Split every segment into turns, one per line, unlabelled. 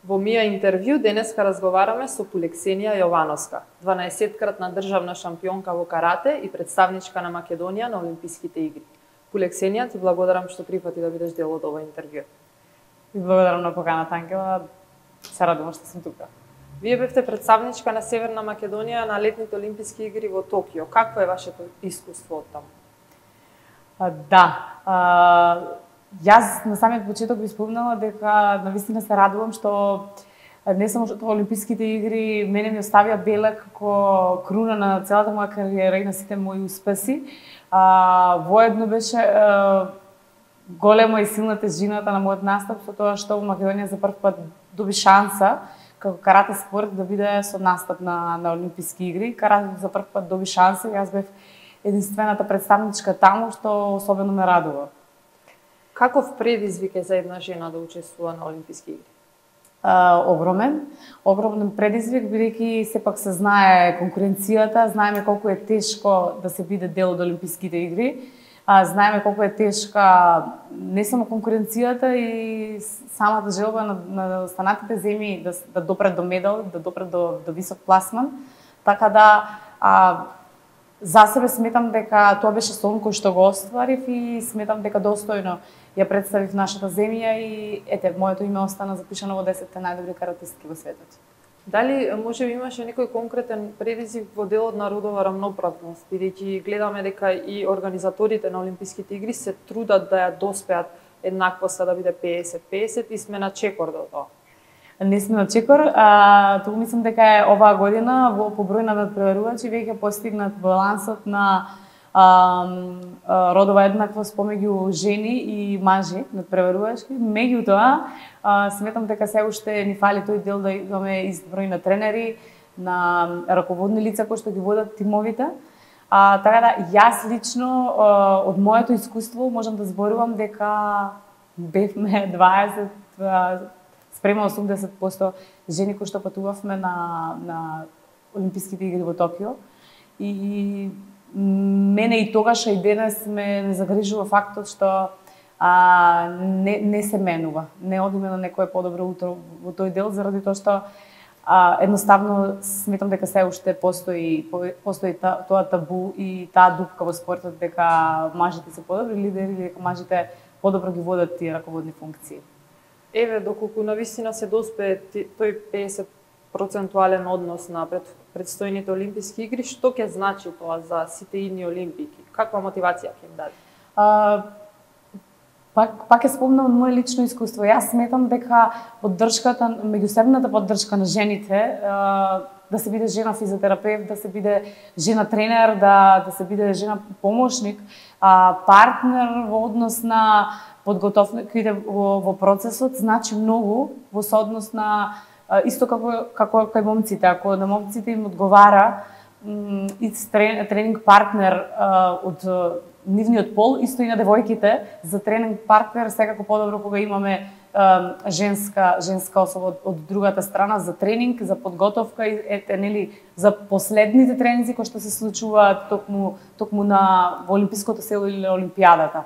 Во Мија интервју денеска разговараме со Пулексенија Јовановска, 12-кратна државна шампионка во карате и представничка на Македонија на Олимписките игри. Пулексенија, ти благодарам што прифати да бидеш дел од ова интервју.
Ви благодарам на поканата, Ангела. Се радувам што сум тука.
Вие бевте представничка на Северна Македонија на летните Олимписки игри во Токио. Какво е вашето искуство од таму?
Јас на самиот почеток ви спомнала дека навистина се радувам што не само што Олимписките игри мене ми оставија белег како круна на целата моја кариера и на сите мои успеси. Воедно беше голема и силна тежината на мојот настап со тоа што во Македонија за прв пат доби шанса како карате спорт да биде со настап на Олимписки игри. Карате за прв пат доби шанса и јас бев единствената представничка таму што особено ме радува.
Каков предизвик е за една жена да учествува на Олимписки игри?
Огромен предизвик, бидејќи сепак се знае конкуренцијата, знаеме колку е тешко да се биде дел од Олимписките игри, знаеме колку е тешка не само конкуренцијата и самата желба на останатите земји да допрат до медал, да допрат до висок пласман, така да за себе сметам дека тоа беше сон кој што го остварив и сметам дека достојно ја представив нашата земја и моето име остана запишано во 10 најдобри каратистки во светот.
Дали може би имаше некој конкретен предизвик во делот на родова рамноправност, бидејќи гледаме дека и организаторите на Олимписките игри се трудат да ја доспеат еднаквоста да биде 50-50 и сме на чекор до тоа.
Не сме на чекор, тоа мислам дека е оваа година по број на надпреварувачи веќе постигнат балансот на родова еднаквост помеѓу жени и мажи надпреварувачки. Меѓутоа, сметам дека се уште ни фали тој дел да имаме ист број на тренери, на раководни лица кои што ги водат тимовите. Така да, јас лично од моето искуство можам да зборувам дека бевме 20 спрема 80% жени кои што патувавме на Олимписките игри во Токио. И мене и тогаш и денес ме загрижува фактот што не се менува. Не одиме на некое подобро утро во тој дел, заради тоа што едноставно сметам дека се уште постои тоа табу и таа дупка во спортот дека мажите се подобри лидери или дека мажите подобро ги водат тие раководни функции.
Еве, доколку навистина се доспее тој 50% однос на предстојните Олимписки игри, што ќе значи тоа за сите идни олимпики? Каква мотивација ќе им даде?
Пак ќе спомнам од мое лично искуство. Јас сметам дека поддршката, меѓусебната поддршка на жените, да се биде жена физиотерапевт, да се биде жена тренер, да се биде жена помошник, партнер во однос на подготовките во процесот, значи многу во сооднос на исто како кај момците. Ако на момците им одговара тренинг партнер од нивниот пол, исто и на девојките, за тренинг партнер секако подобро кога имаме женска особа од другата страна за тренинг, за подготовка и за последните тренинзи кои што се случуваат токму во олимпиското село или олимпијадата.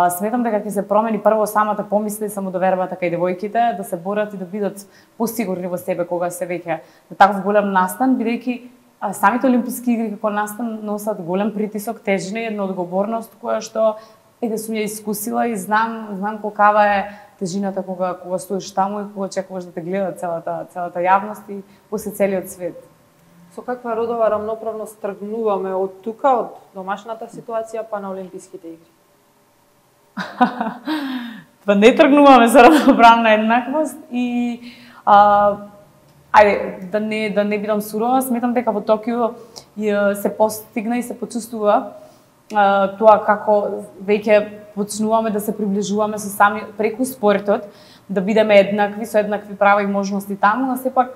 Сметам дека ќе се промени прво самата помисла и самодовербата кај девојките, да се борат и да бидат посигурни во себе кога се веќе на таков голем настан, бидејќи самите олимписки игри како настан носат голем притисок, тежина и една одговорност која што сум ја искусила и знам колкава е тежината кога стоиш таму и кога чекуваш да те гледа целата јавност и после целиот свет.
Со каква родова рамноправност тргнуваме од тука, од домашната ситуација па на Олимписките игри?
Па не тргнуваме за равноправна еднаквост и да не бидам сурова, сметам дека во Токио се постигна и се почувствува тоа како веќе почнуваме да се приближуваме со сами преку спортот, да бидеме еднакви со еднакви права и можности таму, но сепак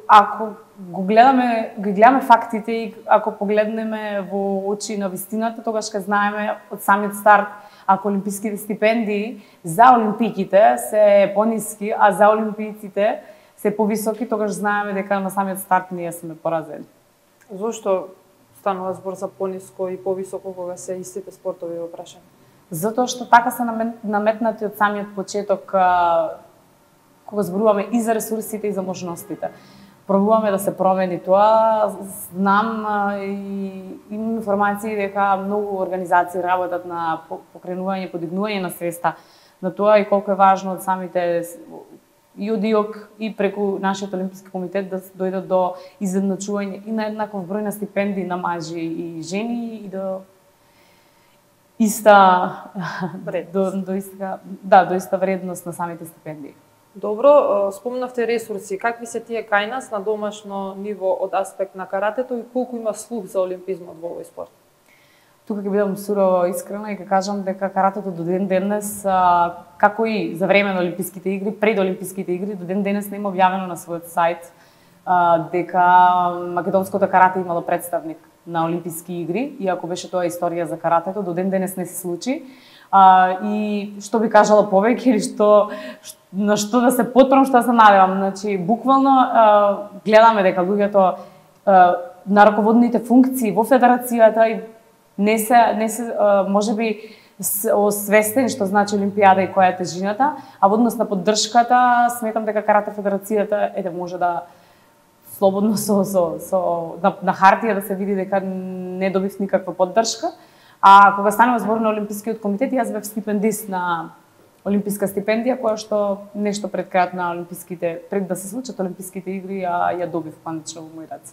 ако гледаме фактите и ако погледнеме во очи на вистината, тогаш ќе знаеме од самиот старт ако олимписките стипендии за олимпиките се пониски, а за олимпијците се повисоки, тогаш знаеме дека на самиот старт ние сме поразени.
Зошто станува збор за пониско и повисоко кога се истите спортови во прашање?
Затоа што така се наметнати од самиот почеток кога зборуваме и за ресурсите и за можностите. Пробуваме да се промени тоа. Знам и имам информации дека многу организации работат на покренување, подигнување на свеста на тоа и колку е важно од самите и од ИОК и преку нашиот Олимписки комитет да дојдат до изедначување и на еднаков број на стипендии на мажи и жени и до иста до иста вредност на самите стипендии.
Добро, спомнавте ресурси. Какви се тие кај нас на домашно ниво од аспект на каратето и колку има слух за олимпизмот во овој спорт?
Тука ќе бидам сурово искрена и ќе кажам дека каратето до ден денес, како и за време на Олимписките игри, пред Олимписките игри, до ден денес не има објавено на својот сајт дека македонското карате имало представник на Олимписки игри, иако беше тоа историја за каратето, до ден денес не се случи. И што би кажала повеќе или на што да се потпрам, што се надевам. Значи, буквално гледаме дека луѓето на раководните функции во федерацијата и не се можеби освестени што значи Олимпијада и која е тежината, а во однос на поддршката сметам дека карате федерацијата може да слободно на хартија да се види дека не добив никаква поддршка. А кога станува збор на Олимпискиот комитет, јас бев стипендист на олимписка стипендија, која што нешто пред крајот на олимписките, пред да се случат олимписките игри, ја добив кондично во мој раце.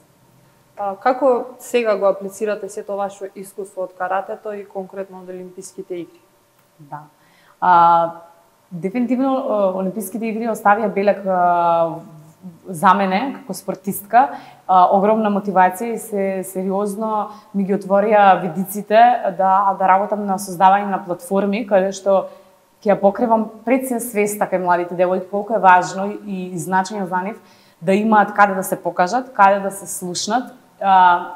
Како сега го аплицирате сето ваше искуство од каратето и конкретно од олимписките игри?
Да. Дефинитивно олимписките игри оставија белег за мене како спортистка, огромна мотивација и се сериозно ми ги отворија видиците да работам на создавање на платформи каде што ќе ја покривам пред се свеста кај младите девојки колку е важно и значање за нив да имаат каде да се покажат, каде да се слушнат,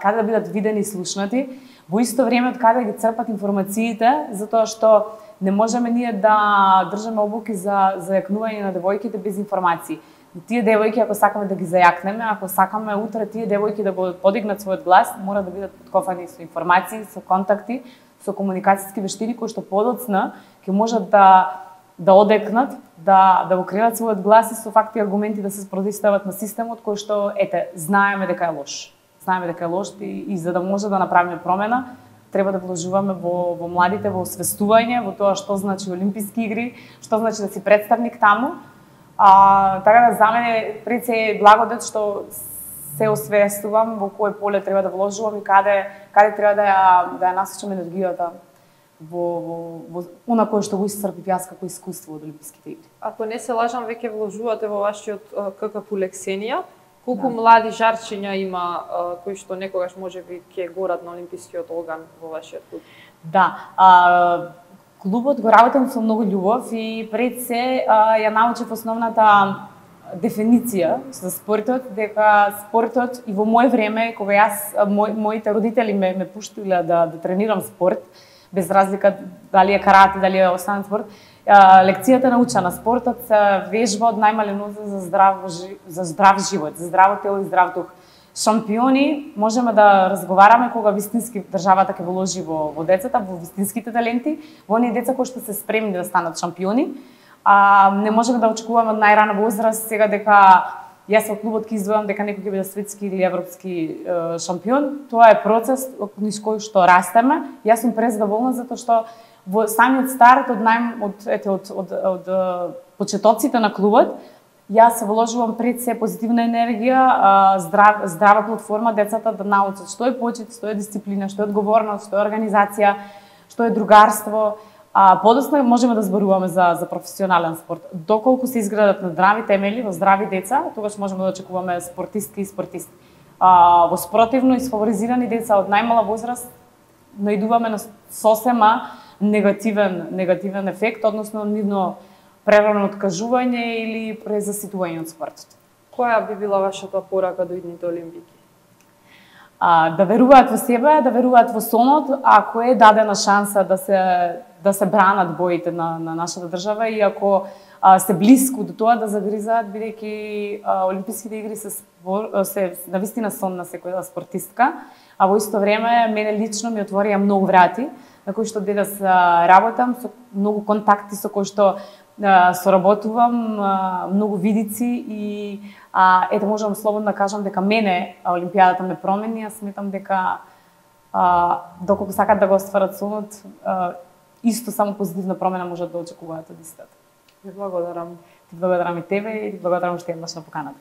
каде да бидат видени и слушнати, во исто време од каде ги црпат информациите, затоа што не можеме ние да држаме обуки за зајакнување на девојките без информации. Тие девојки, ако сакаме да ги зајакнеме, ако сакаме утре тие девојки да го подигнат својот глас, мора да бидат подкофани со информации, со контакти, со комуникацијски вештини кои што подоцна ќе можат да одекнат, да го креират својот глас и со факти и аргументи да се спротивстават на системот кој што знаеме дека е лош. Знаеме дека е лош и за да може да направиме промена, треба да вложуваме во младите, во освестување, во тоа што значи Олимписки игри, што значи да си представник таму. Така да за мене пред се е благодет што се освестувам во кој поле треба да вложувам и каде треба да ја насочам енергијата во она кое што го исцрпив јас како искуство од Олимписките игри.
Ако не се лажам, веќе вложувате во вашиот ККП Лексенија. Колку млади жарчиња има кои што некогаш можеби ќе горат на олимпискиот оган во вашиот клуб?
Да, клубот го работам со многу љубов и пред се ја научив основната дефиниција за спортот, дека спортот и во моје време, кога јас, моите родители ме пуштиле да тренирам спорт, без разлика дали е карате, дали е останат спорт, лекцијата научена, спортот се вежба од најмален возраст за здрав живот, за здраво тело и здрав дух. Шампиони можеме да разговараме кога вистински државата ќе вложи во децата, во вистинските таленти, во оние деца кои што се спремни да станат шампиони. Не можеме да очекуваме од најрана возраст сега дека јас во клубот ќе издвојам дека некој ќе биде светски или европски шампион. Тоа е процес низ кој што растеме. Јас сум презадоволна затоа што во самиот старт од почетоците на клубот јас се вложувам пред се позитивна енергија, здрава платформа, децата да научат што е почит, што е дисциплина, што е одговорност, што е организација, што е другарство. Подоцна можеме да зборуваме за професионален спорт. Доколку се изградат на здрави темели, во здрави деца, тогаш можеме да очекуваме спортистки и спортисти. Во спротивно изфаворизирани деца од најмала возраст наидуваме на сосема негативен ефект, односно нивно прерано откажување или презаситување од спортот.
Која би била вашата порака до идните олимпики?
Да веруваат во себе, да веруваат во сонот, ако е дадена шанса да се бранат боите на нашата држава и ако се блиску до тоа да загризаат, бидејќи олимписките игри се навистина сон на секоја спортистка, а во исто време мене лично ми отворија многу врати на кои што денес работам, со многу контакти со кои што соработувам многу видици и ете можам слободно да кажам дека мене Олимпијадата ме промени, јас сметам дека доколку сакат да го остварат сонот, исто само позитивна промена може да очекуваат од истата.
Ви благодарам.
Ти благодарам и тебе и ти благодарам што еднаш на поканата.